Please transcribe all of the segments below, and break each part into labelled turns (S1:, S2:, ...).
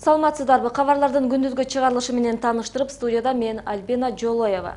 S1: Саламатсыздарбы? Кабарлардын күндүзгү чыгарылышы менен тааныштырып, студияда мен Альбина Жолоева.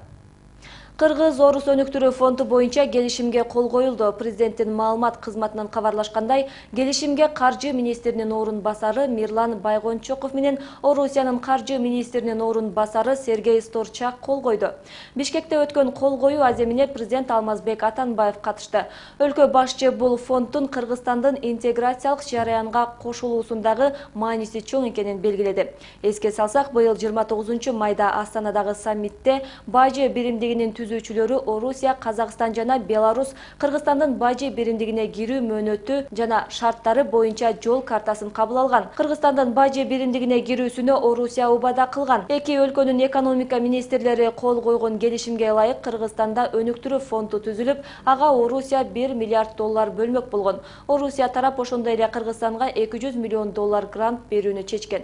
S1: Кыргыз Орус өнүктүрүү фонду боюнча келишимге кол коюлду. Президенттин маалымат кызматынан кабарлашкандай, келишимге каржы министринин орун басары Мирлан Байгончоков менен Орусиянын каржы министринин орун басары Сергей Сторчак кол койду. Бишкекте өткөн кол коюу аземине президент Алмазбек Атамбаев катышты. Өлкө башчы бул фонддун Кыргызстандын интеграциялык жараянга кошулуусундагы мааниси чоң экенин белгиледи. Эске салсак, быйыл 29-майда Астанадагы саммитте бажы биримдигинин түзүүчүлөрү Орусия, Казакстан жана Беларусь Кыргызстандын бажы биримдигине кирүү мөөнөтү жана шарттары боюнча жол картасын кабыл алган. Кыргызстандын бажы биримдигине кирүүсүнө Орусия убада кылган. Эки өлкөнүн экономика министрлери кол койгон келишимге ылайык Кыргызстанда өнүктүрүү фонду түзүлүп, ага Орусия $1 миллиард бөлмөк болгон. Орусия тарап ошондой эле Кыргызстанга $200 миллион грант берүүнү чечкен.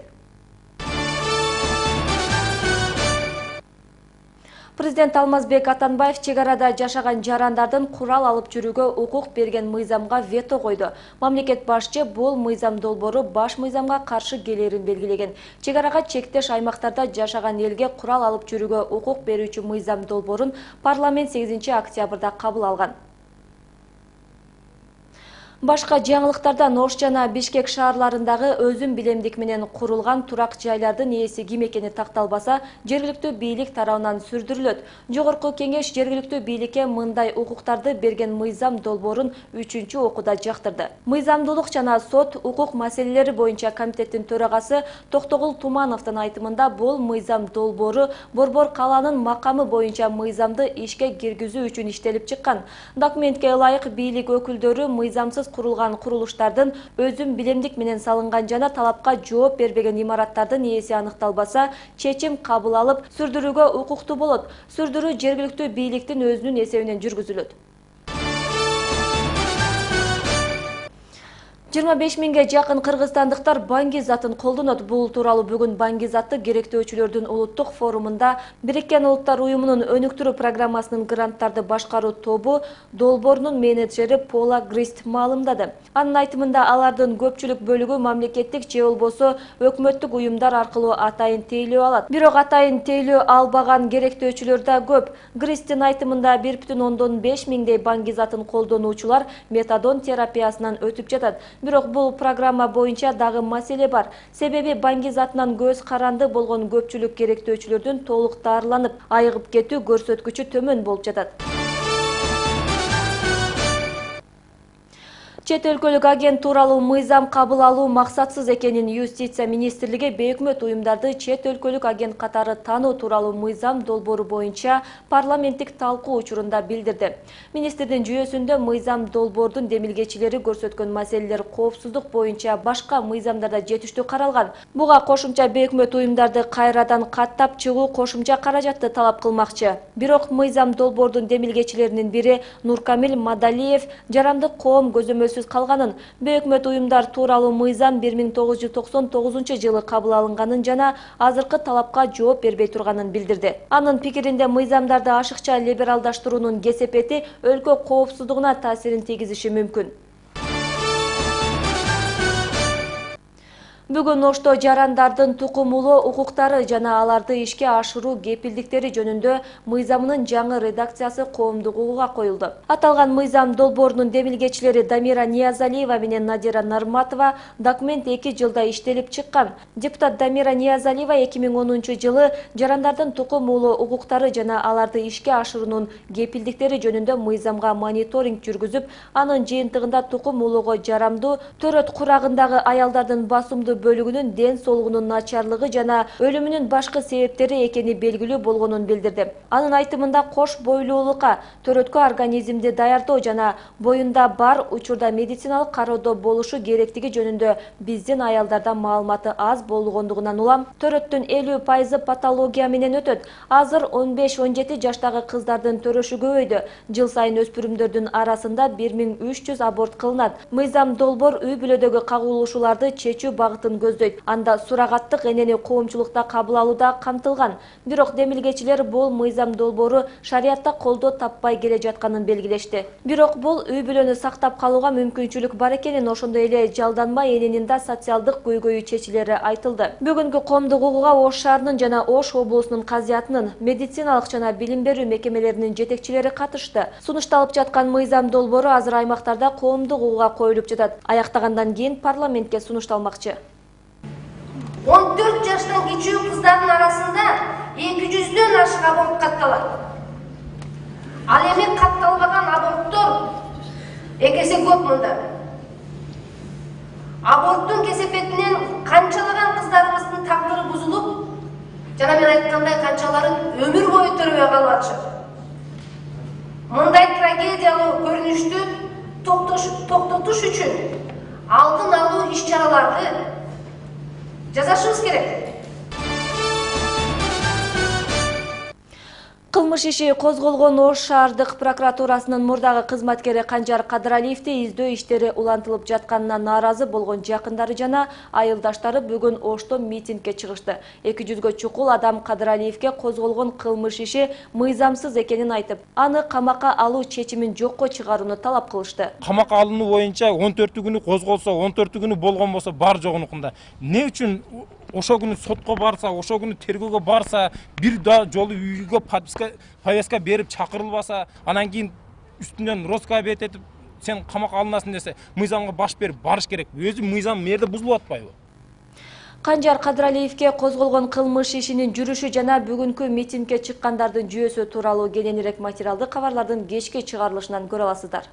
S1: Президент Алмазбек Атамбаев чек арада жашаган жарандардын курал алып жүрүүгө укук берген мыйзамга вето койду. Мамлекет башчы бул мыйзам долбоору баш мыйзамга каршы келерин белгилеген. Чек арага чектеш аймактарда жашаган элге курал алып жүрүүгө укук берүүчү мыйзам долбоорун парламент 8-октябрда кабыл алган. Башка жаңылыктардан Ош жана Бишкек шаарларындагы өзүм билемдик менен курулган турак жайлардын ээси ким экени такталбаса, жергиликтүү бийлик тарабынан сүрдүрүлөт. Жогорку кеңеш жергиликтүү бийликке мындай укуктарды берген мыйзам долбоорун 3-окууда жактырды. Мыйзамдуулук жана сот укук маселелери боюнча комитеттин төрагасы Токтогул Тумановдун айтымында бул мыйзам долбоору Борбор калаанын макамы боюнча мыйзамды ишке киргизүү үчүн иштелип чыккан. Документке ылайык бийлик өкүлдөрү мыйзамсыз курулган курулуштардын өзүм билемдик менен салынган жана талапка жооп бербеген имараттардын ээси аныкталбаса, чечим кабыл алып, сүрдүрүүгө укуктуу болот. Сүрдүрүү жергиликтүү бийликтин өзүнүн эсебинен жүргүзүлөт. 25 миңге жакын кыргызстандыктар Баңгизатын колдонот. Бул тууралуу бүгүн Баңгизатты керектөөчүлөрдүн улуттук форумунда Бириккен Улуттар уюмунун өнүктүрүү программасынын гранттарды башкаруу тобу долбоорунун менеджери Пола Грист маалымдады. Анын айтымында алардын көпчүлүк бөлүгү мамлекеттик же болбосо өкмөттүк уюмдар аркылуу атайын тейлөө алат. Бирок атайын тейлөө албаган керектөөчүлөр да көп. Гристин айтымында 1,5 миңдей Баңгизатын колдонуучулар метадон терапиясынан өтүп жатат. Бирок бул программа боюнча дагы маселе бар. Себеби Баңгизатынан көз каранды болгон көпчүлүк керектөөчүлөрдүн толук дарыланып, айыгып кетүү көрсөткүчү төмөн болуп жатат. Чет өлкөлүк агент тууралуу мыйзам кабыл алуу максатсыз экенин Юстиция министрлиги бейөкмөт уюмдарды чет өлкөлүк агент катары тануу тууралуу мыйзам долбоору боюнча парламенттик талкуу учурунда билдирди. Министрдин жүйөсүндө мыйзам долбоордун демилгечилери көрсөткөн маселелер коопсуздук боюнча башка мыйзамдарда жетиштүү каралган. Буга кошумча бейөкмөт уюмдарды кайрадан каттап чыгуу кошумча каражатты талап кылмакчы. Бирок мыйзам долбоордун демилгечилеринин бири Нуркамил Мадалиев жарандык коом көзөмөлсүз калганын, бейөкмөт уюмдар тууралуу мыйзам 1999-жылы кабыл алынганын жана азыркы талапка жооп бербей турганын билдирди. Анын пикиринде мыйзамдарды ашыкча либералдаштыруунун кесепети өлкө коопсуздугуна таасирин тийгизиши мүмкүн. Бүгүн Ошто жарандардын тукумулуу укуктары жана аларды ишке ашыруу кепилдиктери жөнүндө мыйзамынын жаңы редакциясы коомдук угууга коюлду. Аталган мыйзам долбоорунун демилгечилери Дамира Ниязалиева менен Надира Нарматова документ 2 жылда иштелип чыккан. Депутат Дамира Ниязалиева 2010-жылы жарандардын тукумулуу укуктары жана аларды ишке ашыруунун кепилдиктери жөнүндө мыйзамга мониторинг жүргүзүп, анын жыйынтыгында тукумулууга жарамдуу төрөт курагындагы аялдардын басымдуу бөлүгүнүн ден соолугунун начарлыгы жана өлүмүнүн башкы себептери экени белгилүү болгонун билдирди. Анын айтымында кош бойлуулукка, төрөткө организмди даярдоо жана боюнда бар учурда медициналык кароодо болушу керектиги жөнүндө биздин аялдарда маалыматы аз болгондугунан улам төрөттүн 50% патология менен өтөт. Азыр 15-17 жаштагы кыздардын төрөшү көбөйдү. Жыл сайын өспүрүмдөрдүн арасында 1300 аборт кылынат. Мыйзам долбоор үй бүлөдөгү кагылышууларды чечүү багытында көзөмөлдүүлүгүн көздөйт. Анда сурагаттык энени коомчулукта кабыл алуу да камтылган. Бирок демилгечилер бул мыйзам долбоору шариятта колдоо таппай келе жатканын белгилешти. Бирок бул үй-бүлөнү сактап калууга мүмкүнчүлүк бар экенин, ошондой эле жалданма эненин да социалдык көйгөйү чечилери айтылды. Бүгүнкү коомдук угууга Ош шаарынын жана Ош облусунун казиятынын, медициналык жана билим берүү мекемелеринин жетекчилери катышты. Сунушталып жаткан мыйзам долбоору азыр аймактарда коомдук угууга коюлуп жатат. Аяктагандан кийин парламентке сунушталмакчы.
S2: 14 жаштан кичүү кыздардын арасында 200дөн ашык аборт катталат. Ал эми катталбаган аборттор экесе көп мында. Аборттун кесепетинен канчалаган кыздарыбыздын тагдыры бузулуп, жана мен айткандай канчалары өмүр бою төрөбөй калып атышат. Мындай трагедиялуу көрүнүштү токтотуш үчүн алдын алуу иш-чараларды жасашыбыз керек.
S1: Кылмыш иши козголгон Ош шаардык прокуратурасынын мурдагы кызматкери Канжар Кадыралиевди издөө иштери улантылып жатканына нааразы болгон жакындары жана айылдаштары бүгүн Ошто митингге чыгышты. 200гө чукул адам Кадыралиевге козголгон кылмыш иши мыйзамсыз экенин айтып, аны камакка алуу чечимин жокко чыгарууну талап кылышты.
S3: Камакка алынуу боюнча 14-күнү козголсо, 14-күнү болгон болсо бар жогунукунда. Не үчүн ошо күнү сотко барса, ошо күнү тергөөгө барса, бир да жолу үйгө повестка берип чакырылбаса, анан кийин үстүнөн роска бет этип, сен камакка алынасың десе, мыйзамга баш берип барыш керек. Өзү мыйзам мерде бузулуп атпайбы?
S1: Канжар Кадыралиевге козголгон кылмыш ишинин жүрүшү жана бүгүнкү митингге чыккандардын жүйөсү тууралуу кененирээк материалды кабарлардын кечки чыгарылышынан көрө аласыздар.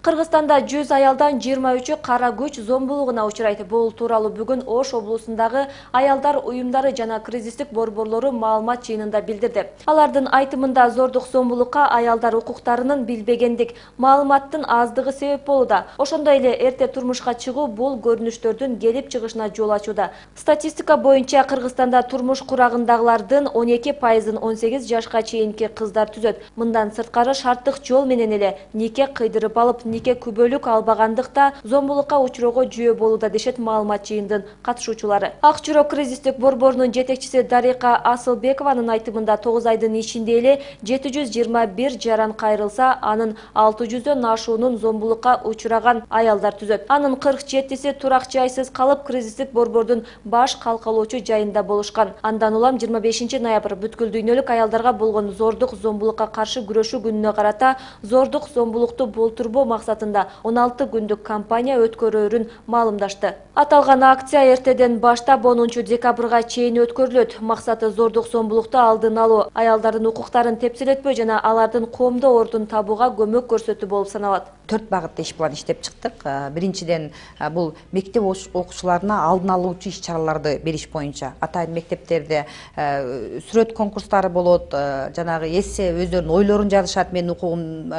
S1: Кыргызстанда 100 аялдан 23-ü кара күч зомбулугуна учурайт. Бул тууралуу бүгүн Ош облусундагы аялдар уюмдары жана кризистик борборлору маалымат жыйынында билдирди. Алардын айтымында зордук зомбулукка аялдар укуктарынын билбегендик, маалыматтын аздыгы себеп болууда. Ошондой эле эрте турмушка чыгуу бул көрүнүштөрдүн келип чыгышына жол ачууда. Статистика боюнча Кыргызстанда турмуш курагындагылардын 12%-ын 18 жашка чейинки кыздар түзөт. Мындан сырткары шарттык жол менен эле нике кыйдырып алып, нике күбөлүк албагандыкта зомбулукка учуроого жүйө болууда дешет маалымат жыйындын катышуучулары. Ак жүрөк кризистик борборунун жетекчиси Дарика Асылбекованын айтымында 9 айдын ичинде эле 721 жаран кайрылса, анын 600дөн ашуунун зомбулукка учураган аялдар түзөт. Анын 47си турак жайсыз калып, кризистик борбордун баш калкалоочу жайында болушкан. Андан улам 25 ноябрь бүткүл дүйнөлүк аялдарга болгон зордук зомбулукка каршы күрөшүү күнүнө карата зордук зомбулукту болтурбоо максатында 16 күндүк кампания өткөрөөрүн маалымдашты. Аталган акция эртеден баштап 10 декабрга чейин өткөрүлөт. Максаты зордук зомбулукту алдын алуу, аялдардын укуктарын тепселетпөө жана алардын коомдо ордун табууга көмөк көрсөтүү болуп саналат.
S4: 4 багытта иш план иштеп чыктык. Биринчиден бул мектеп окуучуларына алдын алуучу иш чараларды бериш боюнча. Атайын мектептерде сүрөт конкурстары болот, жанагы эссе өздөрүнүн ойлорун жазышат, менин укугум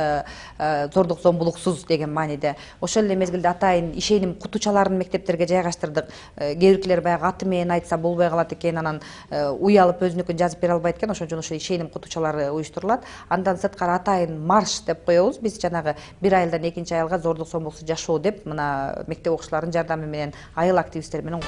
S4: зордук зомбулуксуз деген мааниде. Ошол эле мезгилде атайын ишеним кутучаларын мектептерге жайгаштырдык. Кээ биркилер баягы аты менен айтса болбой калат экен, анан уялып өзүнүкүн жазып бере албайт экен, ошон үчүн ошо ишеним кутучалары уюштурулат. Андан сырткары атайын марш деп коебуз. Биз жанагы бир айылдан экинчи айылга зордук зомбулуксуз жашоо деп мына мектеп окуучуларынын жардамы менен айыл активисттери менен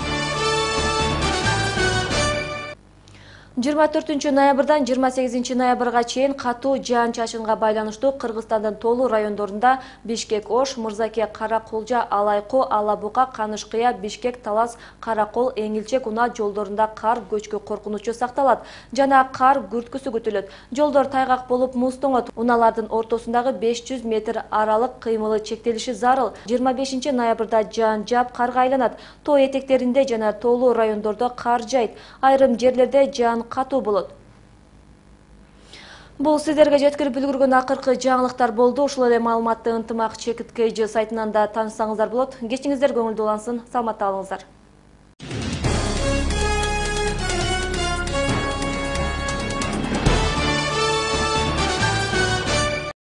S1: 24 ноябрдан 28 ноябрга чейин катуу жаан-чачынга байланыштуу Кыргызстандын тоолуу райондорунда Бишкек, Ош, Мырзаке, Караколжа, Алайкоо, Алабука, Канышкыя, Бишкек, Талас, Каракол, Эңилчек, Уна жолдорунда кар көчкү коркунучу сакталат жана кар күрткүсү күтүлөт. Жолдор тайгак болуп муздоңот. Уналардын ортосундагы 500 метр аралык кыймылы чектелиши зарыл. 25 ноябрда жаан жаап карга айланат. Тоо этектеринде жана тоолуу райондордо кар жайт. Айрым жерлерде жаан катуу болот. Бул сиздерге жеткирип үлгүргөн акыркы жаңылыктар болду. Ушул эле маалыматты ынтымак Чекит Кейжи сайтынан да таанышсаңыздар болот. Кечиңиздер көңүлдүү улансын, саламатта калыңыздар.